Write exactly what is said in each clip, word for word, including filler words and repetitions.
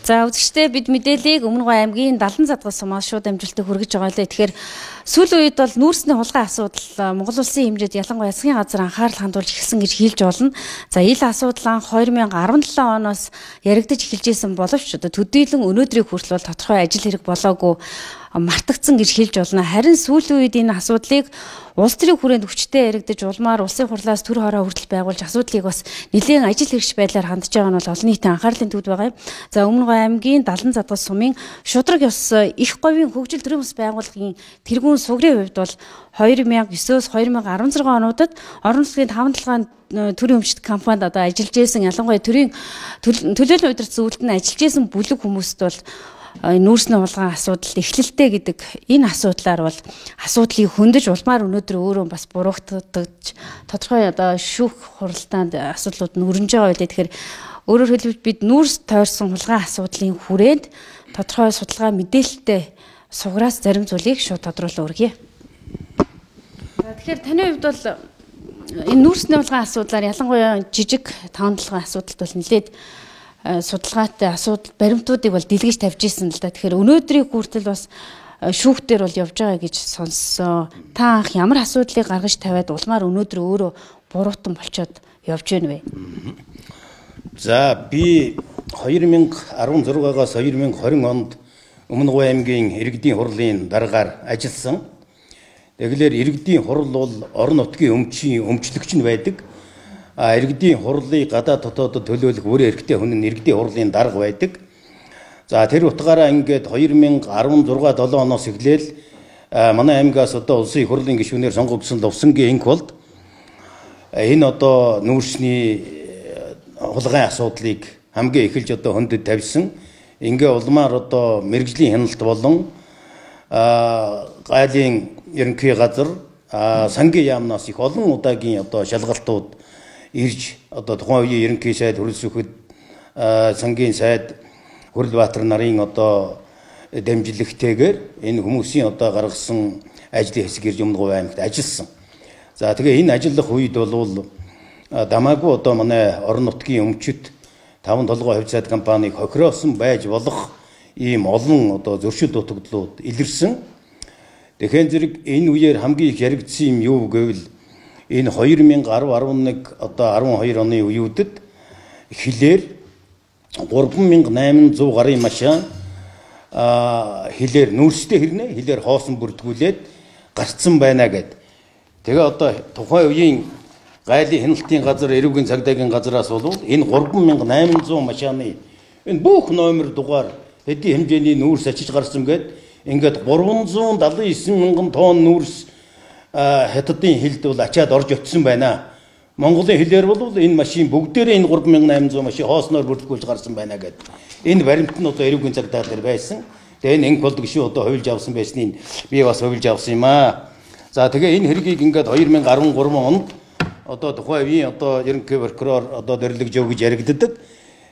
За үзэгчдээ бид мэдээллийг Өмнөгов аймгийн Далан задгал сумаас шууд амжилттай хүргэж байгаа лээ. Тэгэхээр сүүлийн үед бол нүүрсний хулгай асуудал Монгол улсын хэмжээд ялангуяа засгийн газар анхаарал хандуулж эхэлсэн гэж хэлж болно. За ил асуудал хоёр мянга арван долоо оноос яригдаж эхэлж исэн боловч одоо төдийлөн өнөөдрийг хүртэл бол тодорхой ажил хэрэг болоогүй мартагдсан гэж хэлж болно. Харин сүүлийн үед энэ асуудлыг улс төрийн хүрээнд хүчтэй яригдаж улмаар улсын хурлаас төр хороо хүртэл байгуулж асуудлыг бас нэлээд ажил хэрэгч байдлаар хандж байгаа нь бол олон нийтийн анхаарлын төвд байгаа юм. За Өмнөгов аймгийн Далан задгал сумын шудраг ёс их говийн хөгжил төрийн бас байгууллагын тэргүүн сугрын хувьд бол хоёр мянга девөөс хоёр мянга арван зургаан онуудад орон нутгийн таван талгаан төрийн өмчт компанид одоо ажиллаж исэн ялангуяа төрийн төлөөлөл удирдсан үйлдэлд ажиллаж исэн бүлэг хүмүүст бол нүүрсний хулгай асуудал эхлэлтэй гэдэг энэ асуудлаар бол асуудлыг хөндөж улмаар өнөөдөр өөрөө бас буруутгаж тодорхой одоо шүүх хуралдаанд асуудлууд нь өрнөж байгаа байлээ. Тэгэхээр өөрөөр хэлбэл бид нүүрс тойрсон хулгай асуудлын хүрээнд тодорхой судалгаа мэдээлэлтэй суграас зарим зүйлийг шууд тодруулан өргөе. Тэгэхээр таны хувьд бол энэ нүүрсний хулгай асуудлаар ялангуяа жижиг таван талгын асуудалд бол нэлээд судалгаатай асуудал баримтуудыг бол дэлгэж тавьж ирсэн л да. Тэгэхээр өнөөдрийн хүртэл бас шүүхтэр бол явж байгаа гэж сонссон. Та анх ямар асуудлыг гаргаж тавиад улмаар өнөөдөр өөрөө буруутан болчоод явж байна вэ? За би хоёр мянга арван зургаас хоёр мянга хорин онд Өмнөгов аймгийн иргэдийн хурлын даргаар ажилласан. Тэгэлэр иргэдийн хурл бол орон нутгийн өмчийн өмчлөгч нь байдаг. А иргэдийн хурлыг гадаад дотоодод төлөөлөх өөрөө эрхтэй хүн нь иргэдийн хурлын дарга байдаг. За тэр утгаараа ингээд хоёр мянга арван зурга долоо оноос эхлээл манай аймгаас одоо улсын их хурлын гишүүнээр сонгогдсон Лувсангийн энх болд энэ одоо нүүрсний хулгайн асуудлыг хамгийн эхэлж одоо хөндөд тавьсан. Ингээ улмаар одоо мэрэгжлийн хяналт болон гайлын ерөнхий газар сангийн яамнаас их олон удаагийн одоо шалгалтууд ирж одоо тухайн үеийн ерөнхий сайд хөрөлсөхөд сангийн сайд Хүрлбаатар нарын одоо дамжлагтайгээр энэ хүмүүсийн одоо гаргасан ажлын хэсэг ирж Өмнөгов аймагт ажилласан. За тэгээ энэ ажиллах үед бол дамаагүй одоо манай орон нутгийн өмчит таван толгой хувьцаат компаниг хохироосон байж болох ийм олон одоо зөрчил дутагдлууд илэрсэн. Тэгэхээр зэрэг энэ үеэр хамгийн их яригдсан юм юу гэвэл энэ хоёр мянга арван арван нэг одоо арван хоёр оны үеүүдэд хилээр гурван мянга найман зуун гарын машин а хилээр нүүрстэй хэрнээ хилээр хоосон бүртгүүлээд гарцсан байна гэд. Тэгээ одоо тухайн үеийн гайлын хяналтын газар эрүүгийн цагдаагийн газраас бол энэ гурван мянга найман зуун машины энэ бүх номер дугаар хэдийн хэмжээний нүүрс ачиж гарсан гэд ингээд гурван зуун дадлан есөн мянган тонн нүүрс хятадын хилд бол ачаад орж өтсөн байна. Монголын хилээр бол энэ машин бүгдээрээ энэ гурван мянга найман зуун машин хоосноор бүртгүүлж гарсан байна гэд. Энэ баримт нь одоо эрүүгийн цагдаа дээр байсан. Тэгээ энэ энх болд гişүү одоо хувилж авсан байсныг би бас хувилж авсан юм аа. За тэгээ энэ хэргийг ингээд хоёр мянга арван гурван онд одоо тухайн үеийн одоо ерөнхий прокурор одоо дэрлэгж өгж яригддаг.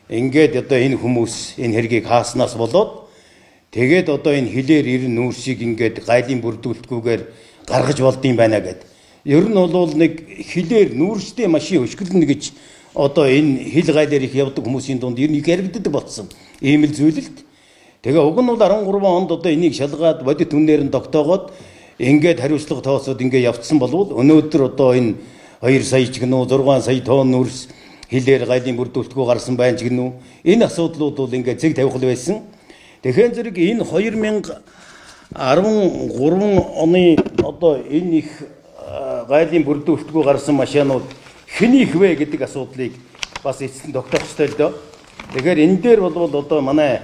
Ингээд одоо энэ хүмүүс энэ хэргийг хааснаас болоод тэгээд одоо энэ хилээр ирэн нүүрсийг ингээд гайлын бүрдүүлэлтгүйгээр гаргаж болдсон байна гэд. Ер нь бол нэг хилээр нүүрстэй машин өшгөлнө гэж одоо энэ хил гайлаар их явдаг хүмүүсийн дунд ер нь яригддаг болсон. Ийм л зүйл л. Тэгээ уг нь бол арван гурван онд одоо энийг шалгаад бодит үнээр нь тогтоогоод ингээд хариуцлага тооцоод ингээд явцсан болвол өнөөдөр одоо энэ хоёр сая ч гэнэ үү зургаан сая тонн нүүрс хилээр гайлын бүрдүүлэлтгүй гарсан байна ч гэнэ үү. Энэ асуудлууд бол ингээд зэг тавих байсан. Тэгэхээр зэрэг энэ хоёр мянга арван гурван оны одоо энэ их гайлын бүрдүүлэлтгүй гарсан машинууд хэнийх вэ гэдэг асуудлыг бас эцэст нь тогтоохтой л доо. Тэгэхээр энэ дээр бол одоо манай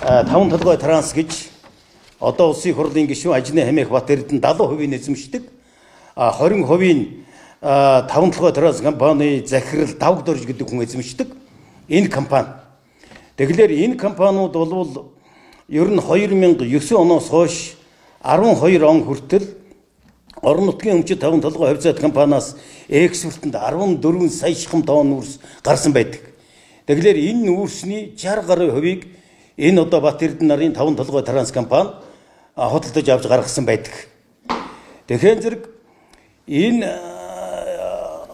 таван толгой транс гэж одоо улсын хурлын гишүүн Ажны Хамех Бат Эрдэнэ даатан хувийн эзэмшдэг. хорин хувийн таван толгой транс компани захирал Давг Дорж гэдэг хүн эзэмшдэг. Энэ компани. Тэгэхээр энэ компаниуд бол ер нь хоёр мянга дев9 оноос хойш арван хоёр он хүртэл орон нутгийн өмчит таван толгой хувьцаат компаниас экспортод арван дөрвөн сая ширхэг тонн нүүрс гарсан байдаг. Тэгэхээр энэ нүүрсний шарх гаруй хувийг энэ одоо Бат Эрдэнэ нарын таван толгой транс компани хөдөлж авч гаргасан байдаг. Тэгэхээр зэрэг энэ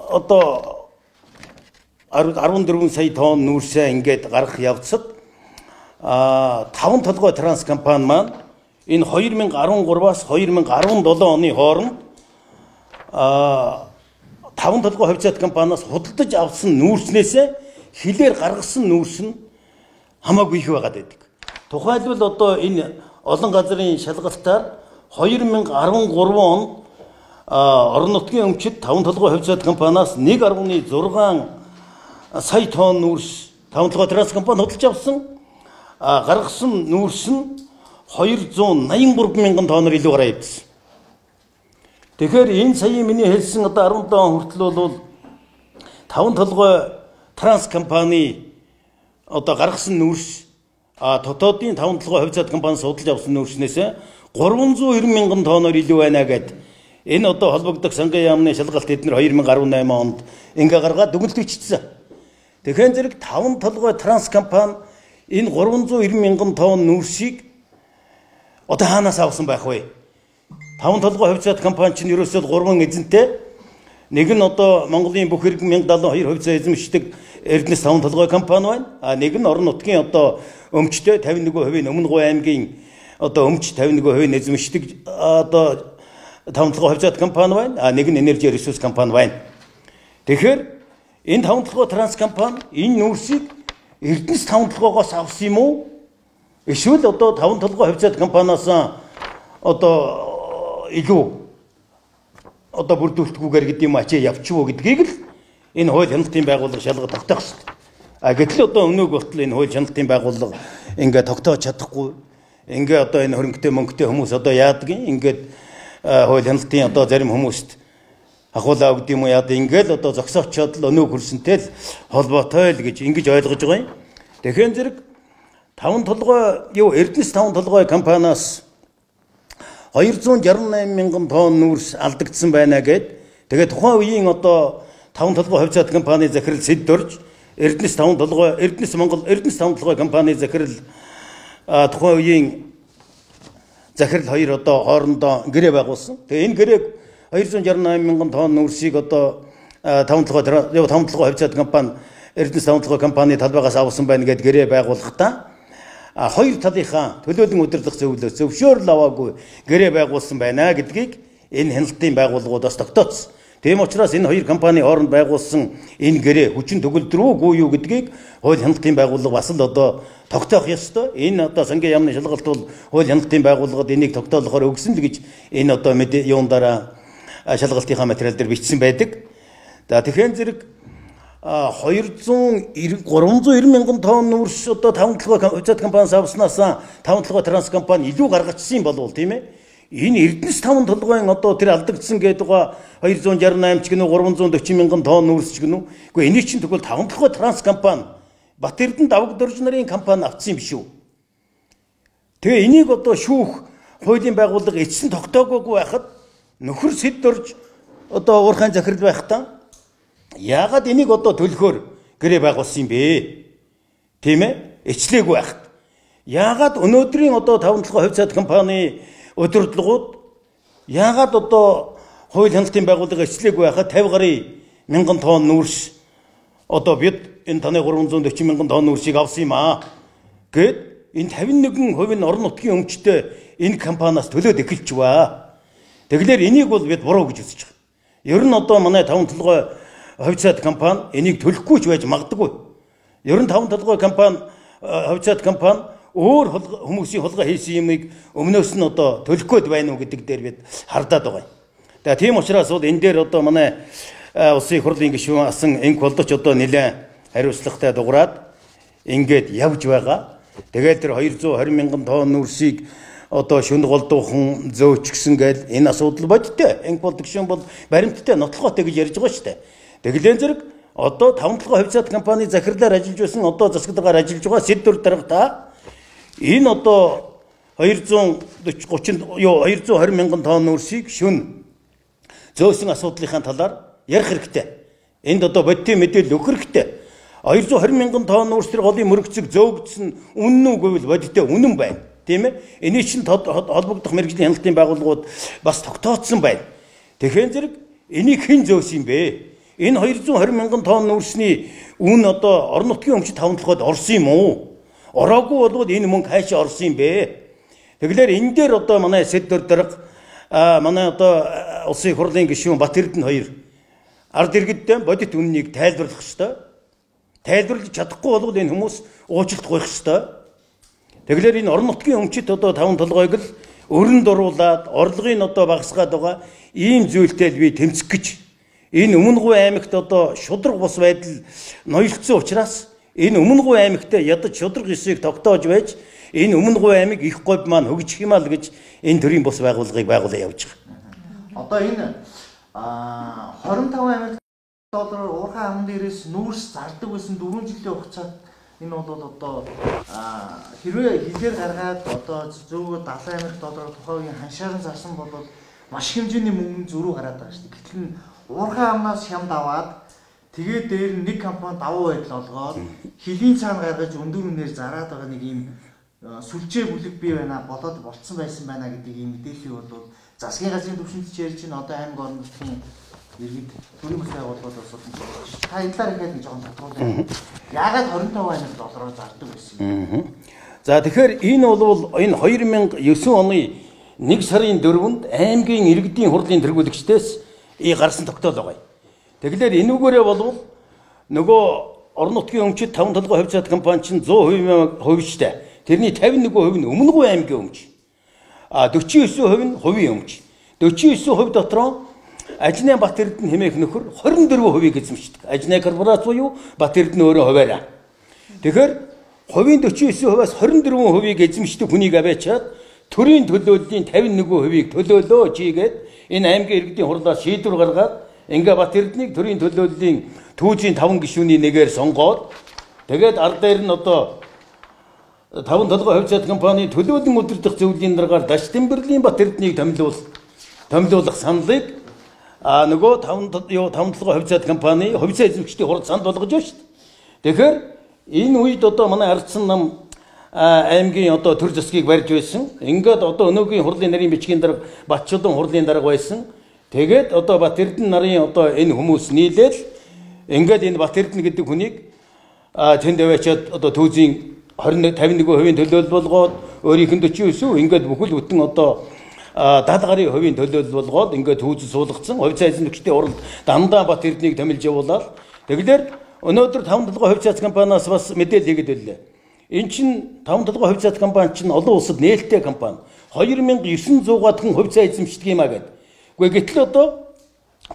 одоо арван дөрвөн сая тонн нүүрсээ ингээд гаргах явцад а таван толгой транс компани маань энэ хоёр мянга арван гураваас хоёр мянга арван долоо оны хооронд а таван толгой хувьцаат компаниас худалдаж авсан нүүрснээсээ хилээр гаргасан нүүрс нь хамаагүй их байгаад байдаг. Тухайлбал одоо энэ олон газрын шалгалтаар хоёр мянга арван гурав онд орон нутгийн өмчит таван толгой хувьцаат компаниас нэг арван зургаан сая тонн нүүрс таван толгой транс компани худалдаж авсан. Гаргасан нүүрс нь хоёр зуун найман гурав мянган тонноор илүү гараа ивдсэн. Тэгэхээр энэ сая миний хэлсэн одоо арван он хүртэл бол таван толгой транс компани одоо гаргасан нүүрс а дотоодын таван толгой хувьцаат компаниас худалдаж авсан нүүрснээс гурван зуун хэдэн мянган тонноор илүү байна гэд энэ одоо холбогдох сангийн яамны шалгалт эднэр хоёр мянга арван найман онд ингээ гаргаад дүгнэлт бичсэн. Тэгэхээр зэрэг таван толгой транс компани энэ гурван зуун хэдэн мянган тонн нүүрсийг одоо хаанаас авсан байх вэ? Таван толгой хувьцаат компани чинь ерөөсөө гурван эзэнтэй. Нэг нь одоо Монголын бүх иргэн мянга даалан хоёр хувьцаа эзэмшдэг Эрдэнэс таван толгой компани байна. А нэг нь орон нутгийн одоо өмчтэй тавин нэг хувийн Өмнөгов аймгийн одоо өмч тавин нэг хувийн эзэмшдэг одоо таван толгой хувьцаат компани байна. А нэг нь энержи ресурс компани байна. Тэгэхээр энэ таван толгой транс компани энэ нүүрсийг Эрдэнэс таван толгойгоос авсан юм уу? Эсвэл одоо таван толгой хувьцаат компаниас одоо илүү одоо бүрдүүлэлтгүйгээр гэдэг юм ачаа явчихвоо гэдгийг л энэ хууль хяналтын байгууллага шалгаж тогтоох хэрэгтэй. А гэтэл одоо өнөөг болтол энэ хууль хяналтын байгууллага ингээ тогтоож чадахгүй ингээ одоо энэ хөрөнгөтэй мөнгөтэй хүмүүс одоо яадаг юм ингээд хууль хяналтын одоо зарим хүмүүст ахуулаа өгд юм уу яадаг ингээл одоо зогсоочоод л өнөөг хүрсэнтэй л холбоотой л гэж ингэж ойлгож байгаа юм. Тэгэхээр зэрэг таван толгой юу Эрдэнэс таван толгой компаниас хоёр зуун жирэмнайман мянган тонн нүүрс алдагдсан байна гэд. Тэгээд тухайн үеийн одоо таван толгой хувьцаат компани захирал Сэд Дорж Эрдэнэс таван толгой Эрдэнэс Монгол Эрдэнэс таван толгой компани захирал тухайн үеийн захирал хоёр одоо хоорондоо гэрээ байгуулсан. Тэгээд энэ гэрээг хоёр зуун жирэмнайман мянган тонн нүүрсийг одоо таван толгой таван толгой хувьцаат компани Эрдэнэс таван толгой компани талбайгаас авсан байна гэд гэрээ байгуулахдаа а хоёр талынхаа төлөөлөн удирдах зөвлөлөөс зөвшөөрөл аваагүй гэрээ байгуулсан байна гэдгийг энэ хяналтын байгууллагуудаас тогтооцсон. Тийм учраас энэ хоёр компани хооронд байгуулсан энэ гэрээ хүчин төгөлдрөөгүй юу гэдгийг хууль хяналтын байгууллага бас л одоо тогтоох ёстой. Энэ одоо сангийн яамны шалгалт бол хууль хяналтын байгууллагад энийг тогтоолохоор өгсөн л гэж энэ одоо юун дараа шалгалтынхаа материал дээр бичсэн байдаг. За тэгэхээр зэрэг хоёр зуун гурван зуун хэдэн мянган тонн нүүрс одоо таван толгой хувьцаат компаниас авснаас таван толгой транс компани илүү гаргацсан болов тийм ээ. Энэ Эрдэнэс таван толгойн одоо тэр алдагдсан гэдэг байгаа хоёр зуун жирэмнайман ч гэнэ гурван зуун дөрвөн мянган тонн нүүрс ч гэнэ. Гэхдээ энийг чинь тэгвэл таван толгой транс компани Бат Эрдэнэ давг дөрж нарын компани авсан юм шүү. Тэгээ энийг одоо шүүх хуулийн байгууллага эцсэн тогтоогоогүй байхад нөхөр Сэд Дорж одоо уурхайн захирал байхдаа яагаад энийг одоо төлөхөөр гэрээ байгуулсан юм бэ? Тийм ээ? Эцлээгүй байхад. Яагаад өнөөдрийн одоо таван толгой хувьцаат компани удирдлагууд яагаад одоо хууль хяналтын байгууллага эцлээгүй байхад тавин гаруй мянган тонн нүүрс одоо бид энэ таны гурван зуун дөрвөн мянган тонн нүүрсийг авсан юм аа гэд энэ тавин нэгэн хувийн орон нутгийн өмчтэй энэ компаниас төлөөд эхэлчихваа. Тэгэлэр энийг бол бид буруу гэж үзэж байгаа. Ер нь одоо манай таван толгой хувьцаат компани энийг төлөхгүй ч байж магадгүй. Ер нь таван толгой компани хувьцаат компани өөр хүмүүсийн хулгай хийсэн юмыг өмнөөс нь одоо төлөх гээд байна уу гэдэг дээр бид хардаад байгаа юм. Тэгээ тийм учраас бол энэ дээр одоо манай улсын их хурлын гишүүн асан энх болдоч одоо нэлээд хариуцлагатай дуграад ингээд явж байгаа. Тэгээд тэр хоёр зуун хорин мянган тонн нүүрсийг одоо шүн голдуухан зөөчгсөн гээл энэ асуудал бодтой. Энх болдог гишүүн бол баримттай нотлохоотой гэж ярьж байгаа шүү дээ. Тэгэлэн зэрэг одоо таван толгой хувьцаат компани захирлаар ажиллаж байсан одоо засаглагаар ажиллаж байгаа Сэд Дорж дарга энэ одоо хоёр зуун гурван юу хоёр зуун хорин мянган тонн нүүрсийг шүн зөөсөн асуудлынхаа талаар ярих хэрэгтэй. Энд одоо бодитын мэдээлэл өгөх хэрэгтэй. хоёр зуун хорин мянган тонн нүүрс тэр голын мөрөгцөг зөөгдсөн үнэн үү гэвэл бодиттой үнэн байна. Тийм ээ? Энийг чинь холбогдох мэргэжлийн хяналтын байгууллагууд бас тогтооцсон байна. Тэгэхээр зэрэг энийг хэн зөөсөн юм бэ? Энэ хоёр зуун хорин мянган тонн нүүрсний үн одоо орон нутгийн өмчит таван толгойд орсон юм уу? Ороогүй болвол энэ мөнгө хайшаа орсон юм бэ. Тэгэхээр энэ дээр одоо манай Сэдвэр дарга манай одоо улсын хурлын гишүүн Бат Эрдэнэ хоёр ард иргэдтэй бодит үннийг тайлбарлах ёстой. Тайлбарлаж чадахгүй бол энэ хүмүүс уучлалт гуйх ёстой. Тэгэхээр энэ орон нутгийн өмчит одоо таван толгойг л өрөнд оруулаад орлогыг одоо багасгаад байгаа ийм зүйлтэй л би тэмцэх гэж энэ Өмнөгүй аймагт одоо шудраг бус байдал ноёлцсон учраас энэ Өмнөгүй аймагт ядаж шудраг эсийг тогтоож байж энэ Өмнөгүй аймаг их говь маань хөгжих юм аа л гэж энэ төрлийн бус байгууллагыг байгуулаад явж байгаа. Одоо энэ хорин таван аймаг доллараар уурхай аман дээрээс нүүрс зардаг байсан дөрвөн жилийн хугацаанд энэ бол одоо хэрвээ хилээр гаргаад одоо зөвхөн далайн аймаг доллараар тухайн үеийн ханшаарын зарсан бол маш хэмжээний мөнгө зөрүү гараад байгаа шүү дээ. Гэтэл нь уурхай амнаас шамд аваад тэгээд дээр нь нэг компани давуу байдал олгоод хилийн цаана гаргаж өндөр үнээр зараад байгаа нэг ийм сүлжээ бүлэг бий байна болоод болцсон байсан байна гэдэг ийм мэдээлэл бол засгийн газрын төвшөнд ч ярьж байна. Одоо аймаг орон нутгийн иргэд төрийн бас байгууллагууд бас судалж байна. Та энэ талаар ихэд нэг жоохон тодорхойлъё. Яагаад хорин таван аймаг доллараар зардаг байсан юм? За тэгэхээр энэ бол энэ хоёр мянга девэн оны нэг сарын дөрөвөнд аймгийн иргэдийн хурлын тэргүүлэгчдээс и гарсан тогтоол байгаа. Тэгэхээр энүүгээрээ бол нөгөө орон нутгийн өмчит таван толгой хувьцаат компани чинь зуун хувь хувьчтай. Тэрний тавин нэг хувь нь Өмнөгүй аймгийн өмч. А дөрвөн девять хувь нь хувийн өмч. дөрвөн девять хувь дотроо Ажны Бат Эрдэнэ хэмээх нөхөр хорин дөрвөн хувийг эзэмшдэг. Ажны корпорац буюу Бат Эрдэнэ өөрөө хуваараа. Тэгэхээр хувийн дөрвөн девять хувиас хорин дөрвөн хувийг эзэмшдэг хүнийг аваачаад төрийн төлөөллийн тавин нэг хувийг төлөөлөө чийгээд энэ аймгийн иргэдийн хурлаас шийдвэр гаргаад ингээ Бат Эрдэнэийг төрийн төлөөллийн түүжийн таван гишүүний нэгээр сонгоод тэгээд ард дээр нь одоо таван толгой хувьцаат компани төлөөлөн удирдах зөвлөлийн дараагаар Даш Тэмбэрлийн Бат Эрдэнэийг томилуул томилуулах саналыг а нөгөө таван таван толгой хувьцаат компани хувьцаа эзэмшигчдийн хурд санд болгож байна шүү дээ. Тэгэхээр энэ үед одоо манай ардсан нам аймгийн одоо төр засгийг барьж байсан. Ингээд одоо өнөөгийн хурлын нарийн бичгийн дарга Батчулан хурлын дарга байсан. Тэгээд одоо Бат Эрдэнэ нарын одоо энэ хүмүүс нийлээл ингээд энэ Бат Эрдэнэ гэдэг хүнийг тэнд аваачаад одоо түүзийн тавин нэг хувийн төлөөлөл болгоод өөрийнх нь дөрвөн девять ингээд бүхэл бүтэн одоо даал гарын хувийн төлөөлөл болгоод ингээд түүз суулгацсан хувьцаа эзэмшигчдийн уралд дандаа Бат Эрдэнэийг томилж явуулаад тэгэхээр өнөөдөр таван толгой хувьцаат компаниас бас мэдээлэл хийгээд байлаа. Эн чинь таван толгой хувьцаат компани чинь олон улсад нээлттэй компани. хоёр мянга девэн зуугаад хүн хувьцаа эзэмшдэг юм а гэдэг. Гэхдээ гэтэл одоо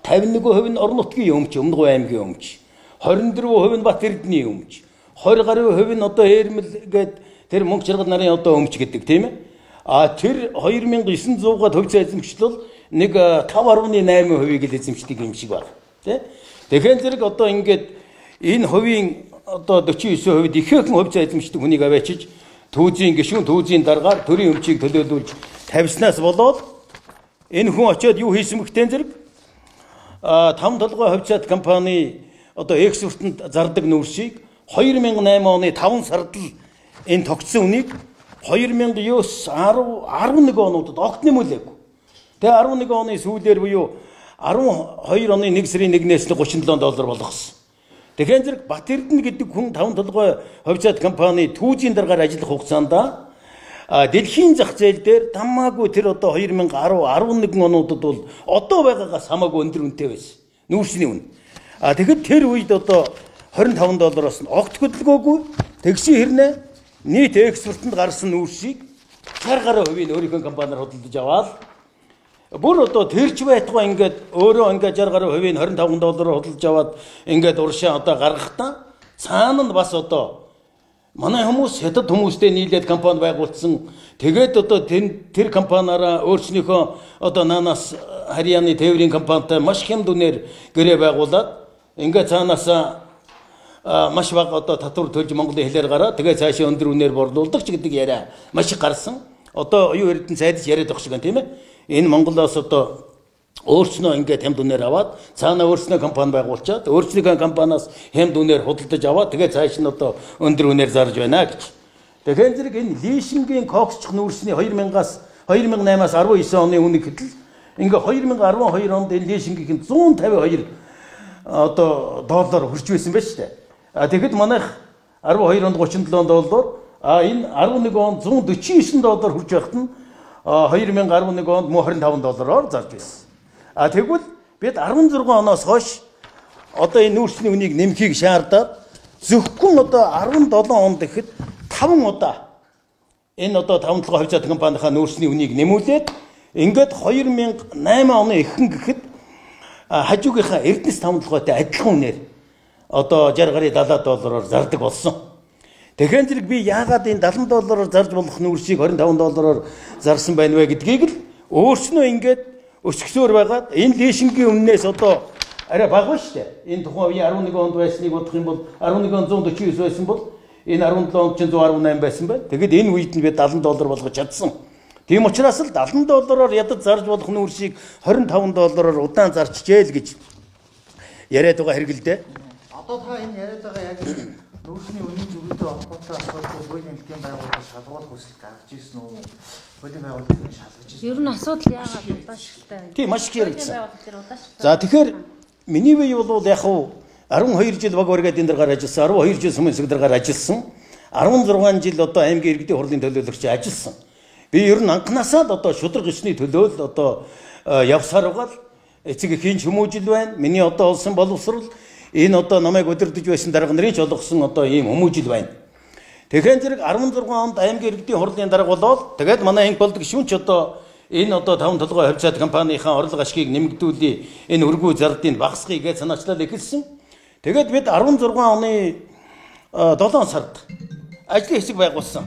тавин нэг хувь нь орон нутгийн өмч, Өмнөгүй аймгийн өмч. хорин дөрвөн хувь нь Бат Эрдэнэний өмч. двадцать гаруй хувь нь одоо Эрмэл гээд тэр мөнгө чаргал нарын одоо өмч гэдэг тийм ээ. А тэр хоёр мянга девэн зуугаад хувьцаа эзэмшил нэг пять дасмал восемь хувийг л эзэмшдэг юм шиг байна. Тэ? Тэгэхээр зэрэг одоо ингээд энэ хувийн одоо дөрвөн девять хувьд ихээхэн хувьцаа эзэмшдэг хүнийг аваачиж түүзийн гишүүн түүзийн дараагаар төрийн өмчийг төлөөлүүлж тавьснаас болоод энэ хүн очиод юу хийсэн мөхтэй зэрэг а таван толгой хувьцаат компани одоо экспортод зардаг нүүрсийг хоёр мянга восемь оны таван сард л энэ тогтсон үнийг хоёр мянга девять десять нэг онуудад огт нэмүүлээгүй. Тэгээ десять нэг оны сүүлээр буюу двадцать оны нэг сарын нэгнээс гуйж седем доллар болгосон. Тэгэхээр зэрэг Бат Эрдэнэ гэдэг хүн таван толгой хувьцаат компани түүжийн дараагаар ажиллах хугацаанд дэлхийн зах зээл дээр тамаагүй тэр одоо хоёр мянга десять десять нэг онуудад бол одоо байгаагаас хамаагүй өндөр үнэтэй байсан. Нүүрсний үн. А тэгэхэд тэр үед одоо двадцать пять доллароос нь огт хөдөлгөөгүй тэгсэн хэрнээ нийт экспортод гарсан нүүрсийг сар гаруй хувийн өөрийнхөө компаниар худалдаж аваад бүр одоо тэрч байтугай ингээд өөрөө ингээд шестьдесят гаруй хувийн двадцать пять доллараар худалдаж аваад ингээд уршаа одоо гаргахдаа цаана нь бас одоо манай хүмүүс хятад хүмүүстэй нийлээд компани байгуулсан. Тэгээд одоо тэр компаниараа өөрснийхөө одоо наанаас Харьяаны тээврийн компанитай маш хямд үнээр гэрээ байгуулад ингээд цаанаас маш бага одоо татвар төлж Монголын хэлээр гараад тэгээ цаашаа өндөр үнээр борлуулдаг ч гэдэг яриа маш их гарсан. Одоо юу Эрдэнэ сайдч яриад байх шиг байна тийм ээ. Энэ Монголоос одоо өөрснөө ингээд хямд үнээр аваад цаанаа өөрснөө компани байгуулчаад өөрснийхөө компаниас хямд үнээр худалдаж аваад тэгээ цааш нь одоо өндөр үнээр зарж байна гэж. Тэгэхээр зэрэг энэ лизингийн коксч нүүрсний хоёр мянгаас хоёр мянга восемь-аас дев9 оны үнийг хэтэл ингээ хоёр мянга дөрвөн хоёр онд энэ лизингийн зуун тавин хоёр одоо доллар хүрч байсан байж тээ. А тэгэхэд манайх дөрвөн хоёр онд гуйж седем доллар а энэ арван нэг онд зуун дөрвөн девять доллар хүрч байхад нь хоёр мянга арван нэг онд мөн хорин таван доллараар зарж байсан. А тэгвэл бид арван зургаан оноос хойш одоо энэ нүүрсний үнийг нэмхийг шаардаад зөвхөн одоо арван долоон онд гэхэд таван удаа энэ одоо таван толгой хувьцаат компанийнхаа нүүрсний үнийг нэмүүлээд ингээд хоёр мянга найман оны эхэн гэхэд хажуугийнхаа Эрдэнэс таван толгойтой адилхан үнээр одоо шарх гаруй далаа доллараар зардаг болсон. Тэгэхээр зэрэг би яагаад энэ дадлан доллараар зарж болох нүүрсийг хорин таван доллараар зарсан байна вэ гэдгийг л өөрснөө ингээд өсгсөөр байгаад энэ лишингийн өмнөөс одоо арай бага шүү дээ. Энэ тухайн үеийн арван нэг онд байсныг бодох юм бол арван нэг он зуун дөрвөн девять байсан бол энэ арван долоо онд чинь зуун арван восемь байсан байна. Тэгэхэд энэ үед нь би дадлан доллар болгож чадсан. Тийм учраас л дадлан доллараар ядаж зарж болох нүүрсийг хорин таван доллараар удаан зарчжээ л гэж яриад байгаа хэрэг л дээ. Одоо та энэ яриад байгаа яг нүүрсний үнийн зөвлөлтөд холбоотой асуудал хуулийн хэлтийн байгууллага шалгуулах хүсэл гаргаж ирсэн үү? Хуулийн байгууллагын шалгаж ирсэн. Ер нь асуудал яагаад удаашралтай вэ? Тийм маш их яригдсан. За тэгэхээр миний бие бол яг хуу арван хоёр жил баг бариад энэ дэр гарч ажилласан, арван хоёр жил сүмэн сүгдэр гарч ажилласан, арван зургаан жил одоо аймгийн иргэдийн хурлын төлөөлөгч ажилласан. Би ер нь анханасаа л одоо шудраг ёсны төлөө л одоо явсаар байгаа л эцэг эхийн хүмүүжил байна. Миний одоо олсон боловсрал энэ одоо намайг өдөрдөж байсан дарга нарын ч олгосон одоо ийм хүмүүжил байна. Тэгэхээр зэрэг арван зургаан онд аймгийн иргэдийн хурлын дарга болоод тэгээд манай анги болдог шүүнч одоо энэ одоо таван толгой хувьцаат компанийнхаа орлого ашгийг нэмэгдүүлээ, энэ өргүү зардыг багасгая гэж санаачлал эхэлсэн. Тэгээд бид арван зургаан оны долоон сард ажлын хэсэг байгуулсан.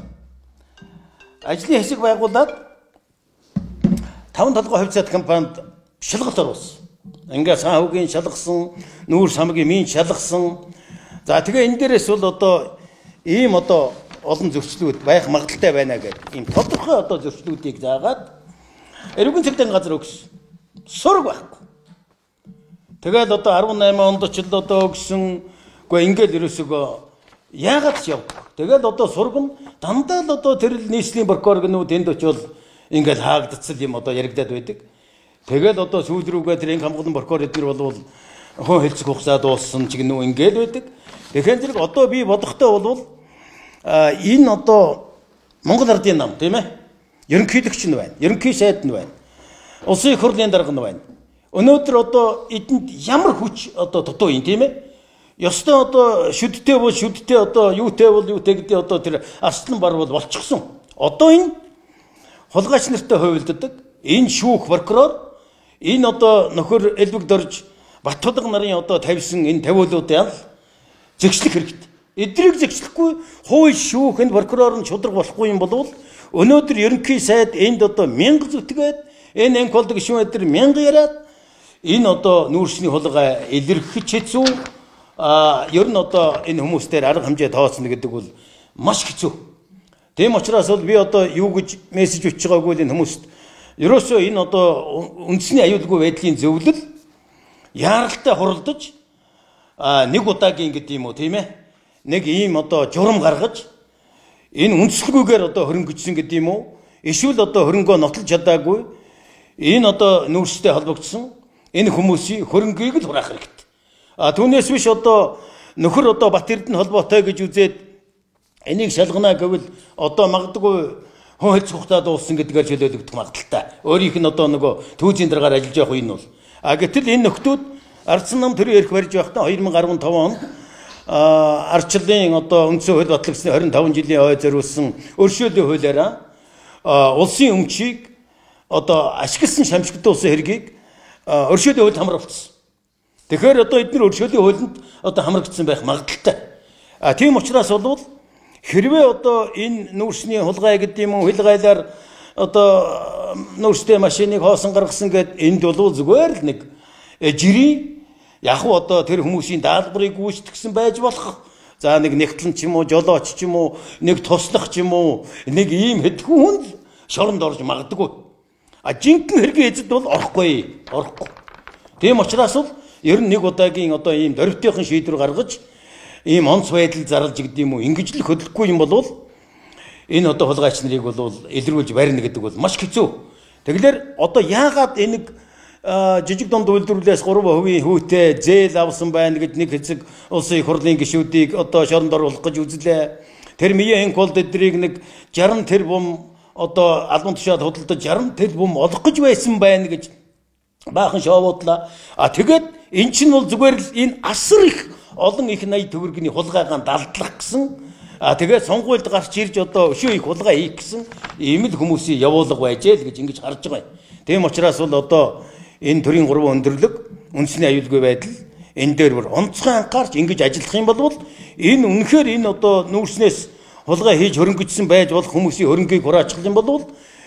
Ажлын хэсэг байгуулад таван толгой хувьцаат компанид шалгалт оруулсан. Ингээ сан хөвгийн шалгасан, нүүрс хамгийн мин шалгасан. За тэгээ энэ дээрээс бол одоо ийм одоо олон зөрчлүүд байх магадaltaй байна гэдэг. Ийм тодорхой одоо зөрчлүүдийг заагаад эрүүгийн цэгтэн газар өгсөн. Сураг байхгүй. Тэгээд одоо арван найман онд ч л одоо өгсөн. Гэхдээ ингээл ерөөсөө яагаад ч явдаг. Тэгээд одоо сураг нь дандаа л одоо тэр нийслэлийн прокурор гэнүү тэнд очивол ингээл хаагдцал юм одоо яригадад байдаг. Тэгээд одоо сүүл рүүгээ тэр инх хамгаалан прокурор эдгээр бол хөө хэлцэх хугацаа дууссан ч гэнүү ингээл байдаг. Тэгэхээр зэрэг одоо би бодохдоо бол энэ одоо Монгол Ардын нам тийм ээ. Ерөнхийлөгч нь байна. Ерөнхий сайд нь байна. Улсын их хурлын дарга нь байна. Өнөөдөр одоо эдэнд ямар хүч одоо дутуу юм тийм ээ. Ёстой одоо шүдтэй бол шүдтэй одоо юутэй бол юутэй гэдэг одоо тэр арслан бар бол болчихсон. Одоо энэ хулгайч нартай хувилддаг. Энэ шүүх прокурор энэ одоо нөхөр элбэг дорж Баттулга нарын одоо тавьсан энэ тавиулуудыг зэгшлэх хэрэгтэй. Эдрийг зэгшлэхгүй хууль шүүх энэ прокурор нь шудраг болохгүй юм бол өнөөдөр ерөнхий сайд энд одоо мянга зүтгээд энэ анги болдог гишүүн эдэр мянга яриад энэ одоо нүүрсний хулгай илэрхэж хэцүү а ер нь одоо энэ хүмүүстээр арга хэмжээ тооцно гэдэг бол маш хэцүү. Тийм учраас бол би одоо юу гэж мессеж өчж байгаагүй энэ хүмүүст ерөөсөө энэ одоо үндэсний аюулгүй байдлын зөвлөл яаралтай хуралдаж а нэг удаагийн гэдэг юм уу тийм ээ нэг ийм одоо журам гаргаж энэ үндэслэгүйгээр одоо хөрөнгөжсөн гэдэг юм уу эсвэл одоо хөрөнгөө нотолж чадаагүй энэ одоо нүүрстэй холбогдсон энэ хүмүүсийн хөрөнгийг л хураах хэрэгтэй. А түүнээс биш одоо нөхөр одоо Бат Эрдэнэ холбоотой гэж үзээд энийг шалгана гэвэл одоо магадгүй хүн хэлц хугацаа дууссан гэдгээр чөлөөлөгдөх магадaltaй. Өөрийнх нь одоо нөгөө түүзийн дараагаар ажиллаж явах юм бол. А гэтэл энэ нөхдүүд ардсан нам тэр эрх барьж байхдаа хоёр мянга арван таван онд ардчлалын одоо үндсэн хууль батлагдсны хорин таван жилийн ой зориулсан өршөөлийн хуулиараа улсын өмчийг одоо ашигласан шамшигтай улсын хэргийг өршөөлийн хуульд хамруулсан. Тэгэхээр одоо эдгээр өршөөлийн хуулинд одоо хамрагдсан байх магадaltaй. А тийм учраас бол хэрвээ одоо энэ нүүрсний хулгай гэдэг юм уу хулгайлаар одоо нүүрстэй машиныг хоосон гаргасан гэд энд бол зүгээр л нэг жирийн яг уу одоо тэр хүмүүсийн даалгаврыг гүйцэтгэсэн байж болох. За нэг нэгтлэн ч юм уу жолооч ч юм уу нэг туслах ч юм уу нэг ийм хэдхэн хүн л шоронд орж магадгүй. А жинхэнэ хэргийн эзэд бол орохгүй орохгүй. Тийм учраас л ер нь нэг удаагийн одоо ийм дөрвтийнхэн шийдвэр гаргаж ийм онц байдал зарлж гэдэг юм уу ингэж л хөдлөхгүй юм бол энэ одоо хулгайч нарыг бол илрүүлж барина гэдэг бол маш хэцүү. Тэгэхээр одоо яагаад энийг жижиг дунд үйлдвэрлэлээс гурав хувийн хүүтэй зээл авсан байна гэж нэг хэсэг улсын их хурлын гишүүдийг одоо шоронд оруулах гэж үзлээ. Тэр Мия Инколд эдрийг нэг sixty тэрбум одоо албан тушаал худалдаж sixty тэрбум олох гэж байсан байна гэж баахан шоовуудлаа. А тэгээд эн чинь бол зүгээр л энэ асар их олон их найд төгрөгийн хулгайгаан далдлах гэсэн. А тэгээд сонгуульд гарч ирж одоо өшөө их хулгай хийх гэсэн ийм л хүмүүсийн явуулга байжээ л гэж ингэж харж байгаа юм. Тийм учраас бол одоо энэ төрийн гурван өндөрлөг үндэсний аюулгүй байдал энэ дээр бүр онцгой анхаарч ингэж ажиллах юм бол энэ үнэхээр энэ одоо нүүрснээс хулгай хийж хөрөнгөжсөн байж болох хүмүүсийн хөрөнгийг хураачих юм бол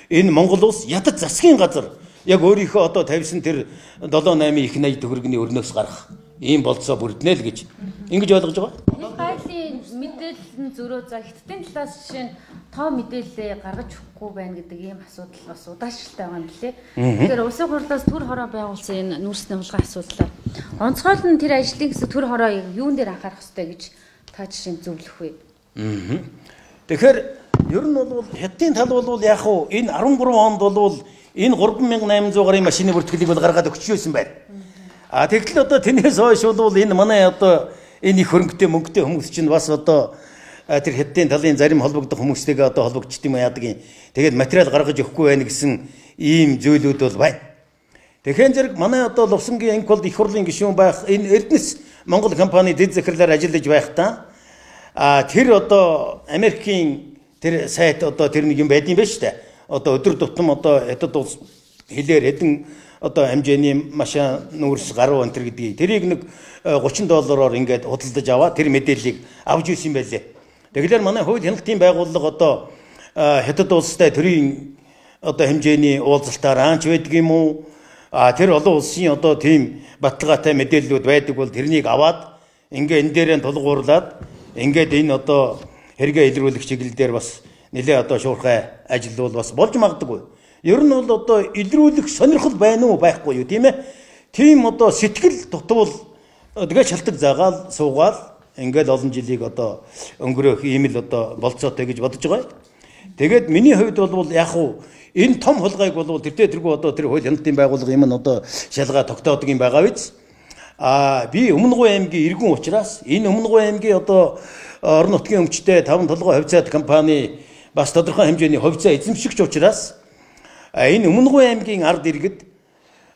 энэ Монгол улс ядаж засгийн газар яг өөрийнхөө одоо тавьсан тэр seven eight их найд төгрөгийн өрнөөс гарах ийм болцоо бүрднэ л гэж ингэж ойлгож байгаа. Энэ гайлын мэдээлэл нь зөрөө за хиттийн талаас жишээ нь тоо мэдээлэлээ гаргаж өгөхгүй байна гэдэг ийм асуудал бас удаашралтай байгаа юм билээ. Тэгэхээр улсын хурлаас төр хороо байгуулсан энэ нүүрсний хулгай асуудлаар онцгой нь тэр ажлын хэсэг төр хороо юун дээр анхаарах хэрэгтэй гэж та жишээ зөвлөх вэ? Аа. Тэгэхээр ер нь бол хятадын тал бол яг уу энэ thirteen онд бол энэ three thousand eight hundred гаруй машины бүртгэлийг бол гаргаад өгчихсэн байна. А тэгэхээр одоо тэрнээс хойш бол энэ манай одоо энэ их хөрөнгөтэй мөнгөтэй хүмүүс чинь бас одоо тэр хятадын талын зарим холбогдох хүмүүстэйгээ одоо холбогдчих юм яадаг юм. Тэгээд материал гаргаж өгөхгүй байна гэсэн ийм зүйлүүд бол байна. Тэгэхээр зэрэг манай одоо Лувсангийн Инколд их хурлын гишүүн байх энэ Эрдэнэс Монгол компани дэд захирлаар ажиллаж байхдаа а тэр одоо Америкийн тэр сайт одоо тэр нэг юм байд юм байна шүү дээ. Одоо өдөр тутам одоо хятад улс хэлээр хэдэн одоо хэмжээний машин нүүрс гаруй энэ төр гэдгийг тэрийг нэг thirty доллараар ингээд худалдаж аваад тэр мэдээллийг авч ирсэн юм байлээ. Тэгэхээр манай хууль хяналтын байгууллага одоо хятад улстай төрийн одоо хэмжээний уулзалтаар аанч байдаг юм уу? А тэр олон улсын одоо тийм баталгаатай мэдээллүүд байдаг бол тэрнийг аваад ингээ энэ дээрээ тулгуурлаад ингээд энэ одоо хэрэгэ илрүүлэх чиглэлээр бас нэлээ одоо шуурхай ажил бол бас болж магадгүй. Ер нь бол одоо илрүүлэх сонирхол байна уу байхгүй юу тийм ээ? Тийм одоо сэтгэл дутвал тэгээ шалтгаан заагаал суугаал ингээд олон жилийг одоо өнгөрөөх ийм л одоо болцоотой гэж бодож байгаа. Тэгээд миний хувьд бол яг уу энэ том хулгайг бол тэртээ тэргүй одоо тэр хууль хяналтын байгууллага юм нь одоо шалгаа тогтоодог юм байгаа биз? А би Өмнөгуй аймгийн иргэн учраас энэ Өмнөгуй аймгийн одоо орон нутгийн өмчтэй таван толгой хувьцаат компани бас тодорхой хэмжээний хувьцаа эзэмшигч учраас энэ Өмнөгуй аймгийн ард иргэд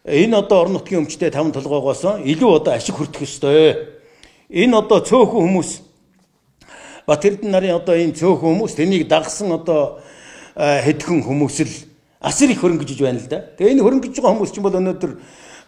энэ одоо орон нутгийн өмчтэй таван толгойгоос илүү одоо ашиг хүртэх ёстой. Энэ одоо цөөхөн хүмүүс Бат Эрдэнэ нарын одоо энэ цөөхөн хүмүүс тэнийг дагсан одоо хэдхэн хүмүүс л асар их хөрөнгөж байна л да. Тэгээ энэ хөрөнгөж байгаа хүмүүс чинь бол өнөөдөр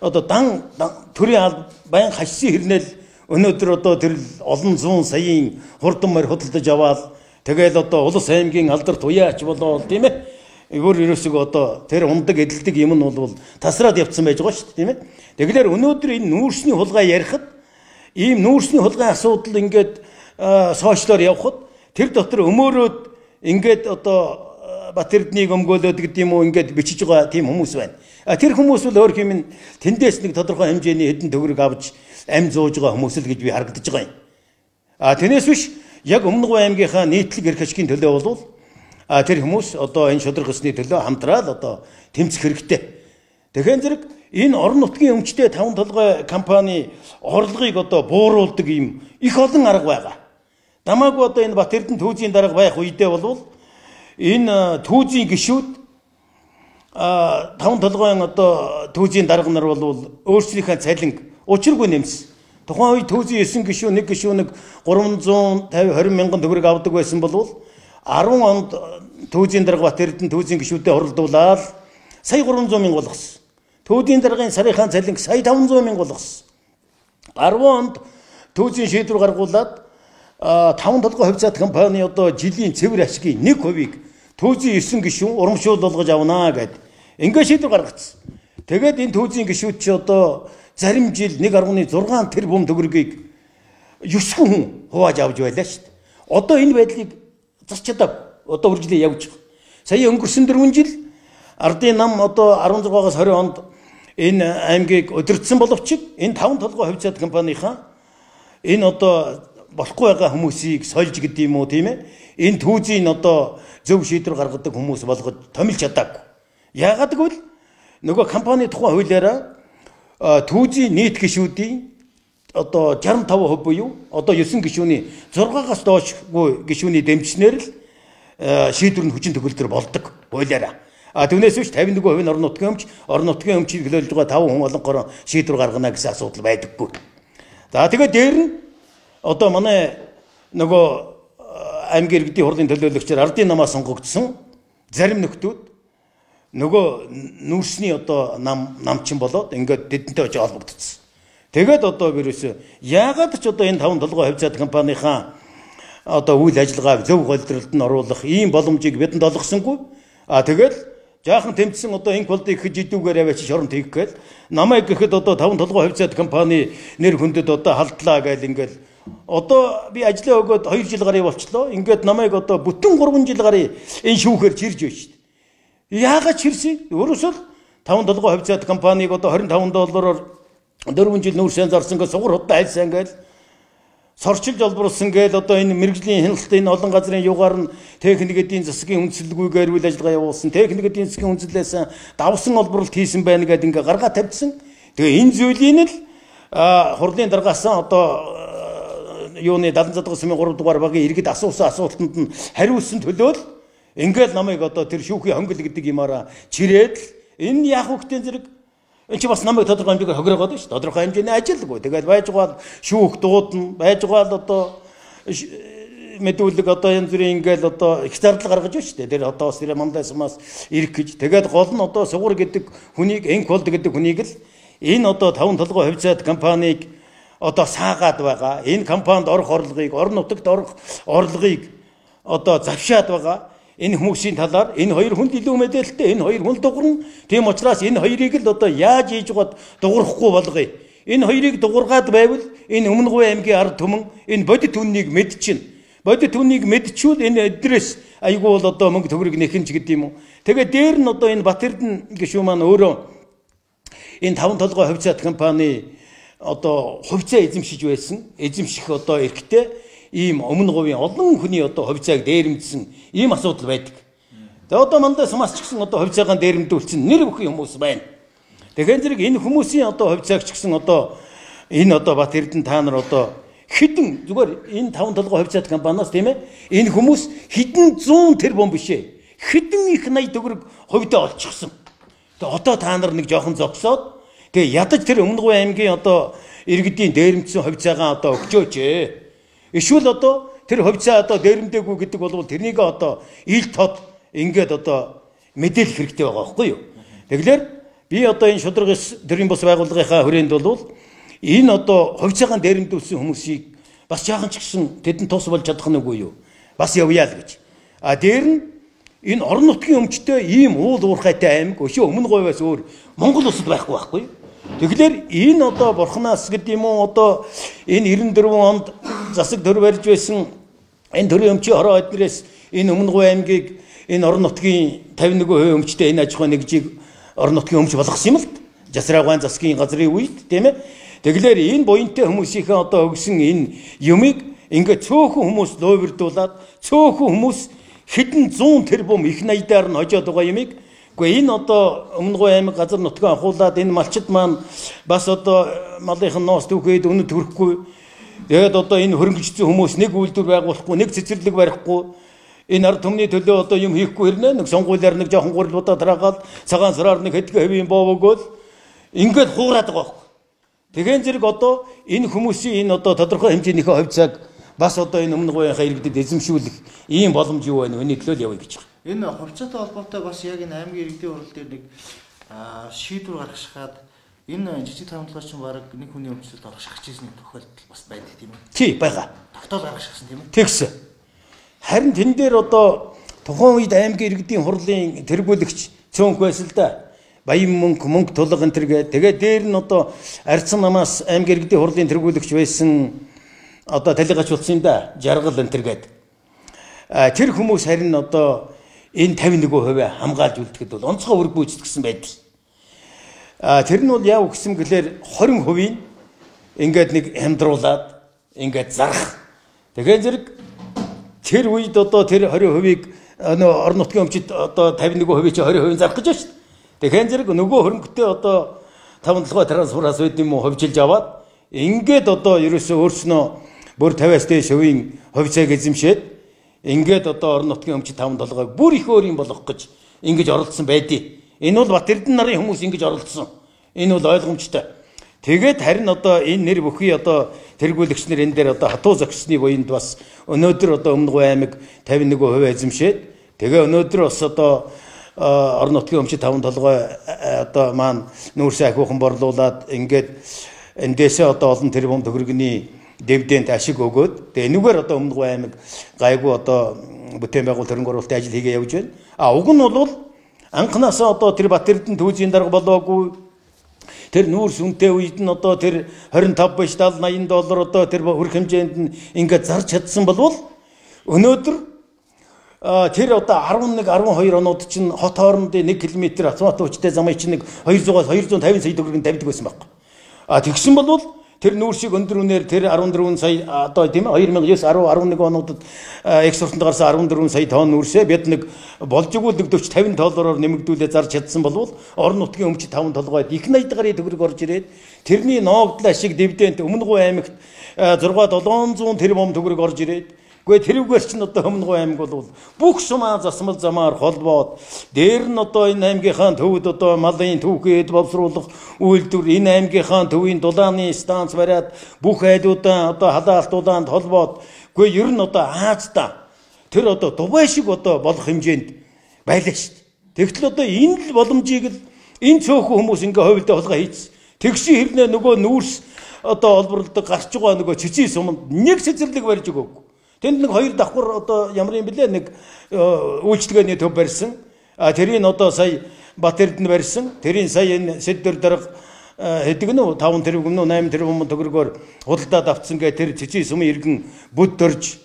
одоо дан төрийн баян хашсын хэрнээл өнөөдөр одоо тэр олон зуун саяын хурдан морь худалдаж аваад тэгэл одоо улс аймгийн алдар туяач болоод тийм ээ. Өөр ерөөсөө одоо тэр ундаг эдэлдэг юм нь бол тасраад явцсан байж байгаа шүү дээ тийм ээ. Тэгэхээр өнөөдөр энэ нүүрсний хулгай ярихад ийм нүүрсний хулгай асуудал ингээд сошиалоор явхад тэр дотор өмөөрөөд ингээд одоо Бат Эрдэнийг өмгөөлөд гэдэг юм уу ингээд бичиж байгаа тийм хүмүүс байна. А тэр хүмүүс бол өөр юм тэндээс нэг тодорхой хэмжээний хэдэн төгрөг авч ам зууж байгаа хүмүүс л гэж би харагдаж байгаа юм. А тэрнээс биш яг Өмнөгуй аймгийнхаа нийтлэг эрх ашигын төлөө бол а тэр хүмүүс одоо энэ шудраг гэсний төлөө хамтраад одоо тэмцэх хэрэгтэй. Тэгэхээр зэрэг энэ орон нутгийн өмчтэй таван толгой компани орлогыг одоо бууруулдаг юм их олон арга байгаа. Дамаагүй одоо энэ Бат Эрдэнэ түүзийн дарга байх үедээ бол энэ түүзийн гишүүд а таван толгойн одоо түүзийн дарга нар бол өөрсдийнхээ цалинг учиргүй нэмсэн. Тухайн үед түүзийн нine гишүү нэг гишүү нэг three hundred fifty twenty мянган төгрөг авдаг байсан бол ten онд түүзийн дарга Бат Эрдэнэ түүзийн гишүүдэд оролдуулаад сая three hundred мянга болгосон. Түүзийн даргын сарынхаа цалинг сая five hundred мянга болгосон. ten онд түүзийн шийдвэр гаргуулад таван толгой хувьцаат компани одоо жилийн цэвэр ашигын one percent түүзийн nine гишүүн урамшуул болгож авнаа гэд ингээд шийдвэр гаргацсан. Тэгээд энэ түүзийн гишүүд чи одоо зарим жил one point six тэрбум төгрөгийг nine хүн хувааж авч байлаа шүү дээ. Одоо энэ байдлыг зарч чадав. Одоо үргэлжлээ явж байгаа. Сая өнгөрсөн four жил ардын нам одоо sixteen-аас twenty онд энэ аймгийг удирдсан боловч энэ таван толгой хувьцаат компанийнхаа энэ одоо болохгүй байгаа хүмүүсийг сольж гэдэг юм уу тийм ээ. Энэ түүзийн одоо зөв шийдвэр гаргадаг хүмүүс болгож томилж чадаагүй. Яагаад гэвэл нөгөө компани тухайн хуулиараа түүзийн нийт гишүүдийн одоо шестьдесят пять процент буюу одоо нine гишүүний six-аас доошгүй гишүүний дэмжснээр л шийдвэр нь хүчин төгөлдөр болдог хуулиараа. А түүнээс биш fifty-one percent орон нутгийн өмч, орон нутгийн өмчийг төлөөлж байгаа five хүн олонхоор шийдвэр гаргана гэсэн асуудал байдаггүй. За тэгээд дээр нь одоо манай нөгөө аймгийн иргэдийн хурлын төлөөлөгчээр ардын намаас сонгогдсон зарим нөхдүүд нөгөө нүүрсний одоо нам намчин болоод ингээд тэдэнтэй очиж холбогдсон. Тэгээд одоо вирус яагаад ч одоо энэ five толгой хувьцаат компанийнхаа одоо үйл ажиллагааг зөв голдролд нь оруулах ийм боломжийг бидэнд олгосонгүй. А тэгээд жаахан тэмцсэн одоо энэ колдыг гэж идүүгээр аваач шоронд хийх гээл намайг гэхэд одоо five толгой хувьцаат компани нэр хүндэд одоо халдлаа гээл ингээд одоо би ажиллаа өгөөд two жил гарыг болчлоо. Ингээд намайг одоо бүтэн three жил гарыг энэ шүүхээр чирж байна шүү дээ. Яагаад чирсэн? Өөрөөсөө five толгой хувьцаат компаниг одоо twenty-five доллараар four жил нүүрсэн зарсан гээл сугар худаа айлсан гээл сорчилж олборлсон гээл одоо энэ мэрэгжлийн хяналтын олон газрын югаар нь техник эдийн засгийн үндэслэлгүйгээр үйл ажиллагаа явуулсан, техник эдийн засгийн үндэслэлээс давсан олборлолт хийсэн байна гэдэг ингээ гаргаа тавьдсан. Тэгээ энэ зүйлийг л хурлын даргаасан одоо юуны seventy three дугаар багийн иргэд асуусан асуултанд нь хариулсан төлөөл ингээл намайг одоо тэр шүүхийн хонгол гэдэг юмараа чирээд энэ яг хөвгтэн зэрэг энэ чи бас намайг тодорхой хэмжээгээр хогроогоод шүү. Тодорхой хэмжээний ажилгүй. Тэгээд байж байгаа шүүх дуудна, байж байгаа одоо мэдүүлэг одоо янз бүрийн ингээл одоо их зардал гаргаж байна шүү дээ. Тэр одоо тэр мандасмаас ирэх гэж. Тэгээд гол нь одоо сугар гэдэг хүнийг, энколд гэдэг хүнийг л энэ одоо five толгой хувьцаат компанийг одоо саагаад байгаа. Энэ компанид орох орлогыг, орон нутагт орох орлогыг одоо завшаад байгаа. Энэ хүмүүсийн талаар энэ хоёр хүнд илүү мэдээлэлтэй, энэ хоёр хүн дуурна. Тийм учраас энэ хоёрыг л одоо яаж хийж гоод дуурахгүй болгоё. Энэ хоёрыг дуургаад байвал энэ Өмнөговын аймгийн ард түмэн энэ бодит үннийг мэдчихнэ. Бодит үннийг мэдчихвэл энэ эдрээс айгүй бол одоо мөнгө төгрөг нэхэнч гэдэг юм уу. Тэгээд дээр нь одоо энэ Батэрдэн гишүүн маань өөрөө энэ five толгой хувьцаат компани одоо хувьцаа эзэмшиж байсан, эзэмших одоо эрхтэй ийм өмнө говийн олон хүний одоо хувьцааг дээрэмдсэн ийм асуудал байдаг. Тэгээ одоо мандаа сумаас ч гэсэн одоо хувьцаагаа дээрэмдүүлсэн нэр бүхэн хүмүүс байна. Тэгэхээр зэрэг энэ хүмүүсийн одоо хувьцааг ч гэсэн одоо энэ одоо Бат Эрдэнэ та нар одоо хэдэн зүгээр энэ five толгой хувьцаат компаниас тийм ээ энэ хүмүүс хэдэн зуун тэрбум биш ээ. Хэдэн их eighty төгрөг хувьдаа олчихсон. Тэгээ одоо та нар нэг жоохон зогсоод тэгээ ядаж тэр Өмнөговын аймгийн одоо иргэдийн дээрэмдсэн хувьцаагаа одоо өгчөөч ээ. Эсвэл одоо тэр хувьцаа одоо дээрэмдээгүй гэдэг бол тэрнийг одоо ил тод ингээд одоо мэдээлэх хэрэгтэй байгаа байхгүй юу. Тэгэхээр би одоо энэ шударга төрийн бус байгууллагынхаа хүрээнд бол энэ одоо хувьцаагаа дээрэмдүүлсэн хүмүүсийг бас жаахан ч гэсэн тэдэнд тус болж чадах нь үгүй юу. Бас явъя л гэж. А дээр нь энэ орон нутгийн өмчтэй ийм уул уурхайтай аймаг өшөө өмнө говьоос өөр Монгол улсад байхгүй байхгүй. Тэгэхээр энэ одоо бурхнаас гэдэг юм уу одоо энэ ninety-four онд засаг төр барьж байсан энэ төрийн өмчийн хороо эднэрээс энэ Өмнөговын аймгийг энэ орон нутгийн fifty-one percent өмчтэй энэ аж ахуй нэгжийг орон нутгийн өмч болгосон юм л Жасраагаан засгийн газрын үед тийм ээ. Тэгэхээр энэ буянтай хүмүүсийнхээ одоо өгсөн энэ юмыг ингээд цөөхөн хүмүүс лойвэрдуулаад цөөхөн хүмүүс хэдэн зуун тэрбум их найдаар нь хожоод байгаа юмыг үгүй энэ одоо Өмнөговын аймаг газар нутгаа ахуулаад энэ малчид маань бас одоо малынхан ноос түүхэд үнэ төрөхгүй. Тэгээд одоо энэ хөрөнгөжсөн хүмүүс нэг үйлдвэр байгуулахгүй, нэг цэцэрлэг барихгүй. Энэ ард түмний төлөө одоо юм хийхгүй хэрнээ нэг сонгуулиар нэг жоохон гурилбуудаа тараагаад цагаан сараар нэг хэдхэн хэвийн боо өгөөл ингээд хуураад байгаа байхгүй. Тэгэн зэрэг одоо энэ хүмүүсийн энэ одоо тодорхой хэмжээнийхээ хувьцааг бас одоо энэ Өмнөговынхаа иргэдэд эзэмшүүлэх ийм боломж юу байна вэ? Энийг төлөө явъя гэж байна. Энэ хувьцаатай холбоотой бас яг энэ аймгийн иргэдийн хурал дээр нэг шийдвэр гаргахад энэ жижиг тавталгаач баг нэг хүний өмчлөлд орох шахаж ирсний тохиолдол бас байдаг тийм үү? Тий, байгаа. Тогтоол гаргахсан тийм үү? Тэгс. Харин тэн дээр одоо тухайн үед аймгийн иргэдийн хурлын тэргүүлэгч цөөнх байсан л да. Баян мөнгө, мөнгө тулга энэ төргээ. Тэгээд дээр нь одоо Арцсан намаас аймгийн иргэдийн хурлын тэргүүлэгч байсан одоо талигач болсон юм да. Жаргал энэ төргээд. А тэр хүмүүс харин одоо энэ fifty-one percent хамгаалж үлдэхэд бол онцгой үүрэг гүйцэтгэсэн байдаг. А тэр нь бол яав гэсэн гэлээр twenty percent ингээд нэг хямдруулаад ингээд зарах. Тэгэхээр зэрэг тэр үед одоо тэр twenty percent-ийг орон нутгийн өмчид одоо fifty-one percent чи twenty percent зарах гэж байна шүү дээ. Тэгэхээр зэрэг нөгөө хөрөнгөтэй одоо five толгой трансфераас үед юм уу хөвжилж аваад ингээд одоо ерөөсөө өөрснөө бүр тавиас дээш хувийн хувьцааг эзэмшээд ингээд одоо орон нутгийн өмчит таван толгойг бүр их өөр юм болгох гэж ингэж оролцсон байдیں۔ Энэ бол Бат Эрдэнэ нарын хүмүүс ингэж оролцсон. Энэ бол ойлгомжтой. Тэгээд харин одоо энэ нэр бүхий одоо тэргүүлэгч нар энэ дээр одоо хатуу зохисны буйнд бас өнөөдөр одоо Өмнөгүй аймаг тавин нэг хувь эзэмшээд тэгээ өнөөдөр бас одоо орон нутгийн өмчит таван толгой одоо маань нүүрс ахиухан борлуулад ингээд эндээсээ одоо олон тэрбум төгрөгийн дивиденд ашиг өгөөд тэгээ энэгээр одоо Өмнөгүй аймаг гайгүй одоо бүтээн байгуул хөрөнгө оруулалтын ажил хийгээ явж байна. А уг нь бол анханасаа одоо тэр Бат Эрдэнэ түүзийн дарга болоогүй тэр нүүрс үнэтэй үед нь одоо тэр двадцать пять биш седьмидесяти восемьдесят доллар одоо тэр хөрх хэмжээнд нь ингээд зарж чадсан болвол өнөөдөр тэр одоо eleven twelve онууд чинь хот хоорондын one километр асфальт хүчтэй замыг чинь нэг two hundred-аас two hundred fifty сая төгрөгийн тавьдаг байсан байхгүй. А тэгсэн болвол тэр нүүрсийг өндөр үнээр тэр fourteen сая одоо тийм ээ two thousand nine ten eleven онуудад экспортод гарсан fourteen сая тонн нүүрсээ бид нэг болж игэл нэг forty fifty доллараар нэмэгдүүлээ зарж чадсан болвол орон нутгийн өмчит таван толгойд их найд гарын төгрөг орж ирээд тэрний ноогдлын ашиг дивиденд Өмнөгүй аймагт six seven hundred тэрбум төгрөг орж ирээд Гэхдээ тэрүүгээр чинь одоо Өмнөгүй аймаг бол бүх сумаа засмал замаар холбоод дээр нь одоо энэ аймгийнхаа төвд одоо малын түүхэд боловсруулах үйлдвэр энэ аймгийнхаа төвийн дулааны станц бариад бүх айлуудаа одоо халаалтууданд холбоод үгүй ер нь одоо Аазда тэр одоо Дубай шиг одоо болох хэмжээнд байлаа шүү дээ. Тэгтэл одоо энэ л боломжийг л энэ цөөхөн хүмүүс ингээ хувилдаа холгоо хийц. Тэгшин хэрнээ нөгөө нүүрс одоо олборлдог гарч байгаа нөгөө цэцэн суманд нэг цэцэрлэг барьж өгөөгүй. Тэнд нэг хоёр давхар одоо ямар юм бэлээ нэг үйлчлэгээний төв барьсан. А тэрийг одоо сая Бат Эрдэнэ барьсан. Тэрийн сая энэ Сэдвэр дарга хэдэг нөө five тэрбум нөө eight тэрбум төгрөгөөр худалдаад авцсан гэ тэр цэцэн сумын иргэн бүд төрж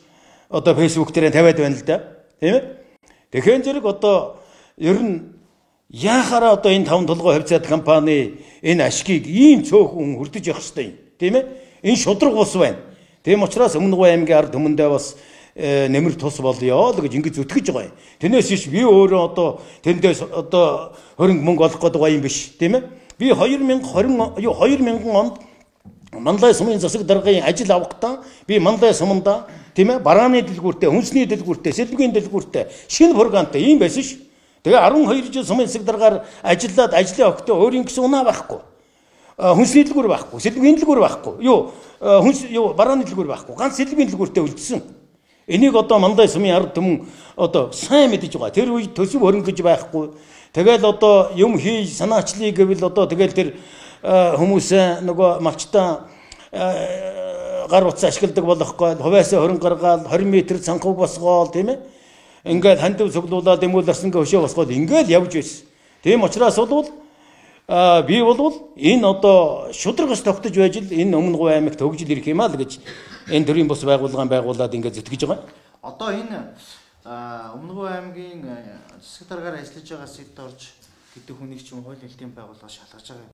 одоо фэйсбુક дээр тавиад байна л да. Тийм ээ. Тэгэхээр зэрэг одоо ер нь яахаараа одоо энэ таван толгой хавцаад компани энэ ашгийг ийм цөөхөн хүрдэж явах хэрэгтэй юм. Тийм ээ. Энэ шудраг ус байна. Тийм учраас Өмнөгүй аймгийн ард түмэндээ бас нэмэр тус болёо л гэж ингэж зүтгэж байгаа юм. Тэрнээс иш би өөрөө одоо тэндээс одоо хөрөнгө мөнгө олох гэдэг байгаа юм биш, тийм ээ. Би twenty twenty юу two thousand онд Манлай сумын засаг даргын ажил авахдаа би Манлай суманда тийм ээ барааны дэлгүүртээ, хүнсний дэлгүүртээ, сэлбэгийн дэлгүүртээ шинэ програмтай ийм байсан ш. Тэгээ twelve жил сумын засаг даргаар ажиллаад ажлын өгтөө өөрийн гэсэн унаа байхгүй. Хүнсний дэлгүүр байхгүй, сэлбэгийн дэлгүүр байхгүй. Юу хүнс юу барааны дэлгүүр байхгүй. Ганц сэлбэгийн дэлгүүртээ үлдсэн. Энийг одоо Манлай сумын ард түмэн одоо сайн мэдэж байгаа. Тэр үед төсөв хөрөнгөж байхгүй. Тэгэл одоо юм хийж санаачлыг гэвэл одоо тэгэл тэр хүмүүс нөгөө малчтаа гар утас ашигладаг болохгүй. Хувьяасаа хөрөнгө гаргаад twenty метр цанхаг босгоол тийм ээ. Ингээд хандив цуглуулаад эмүүлэрсэнгээ хөшөө босгоод ингээд явж байсан. Тийм учраас бол А би бол энэ одоо шудрагс тогтож байж л энэ Өмнөгүй аймагт хөгжил ирэх юм аа л гэж энэ төрлийн бус байгууллагын байгуулад ингээд зүтгэж байгаа. Одоо энэ Өмнөгүй аймгийн засаг даргаар ажиллаж байгаа Сэд орж гэдэг хүнийг ч юм хууль хэлтийн байгууллага шалгаж байгаа.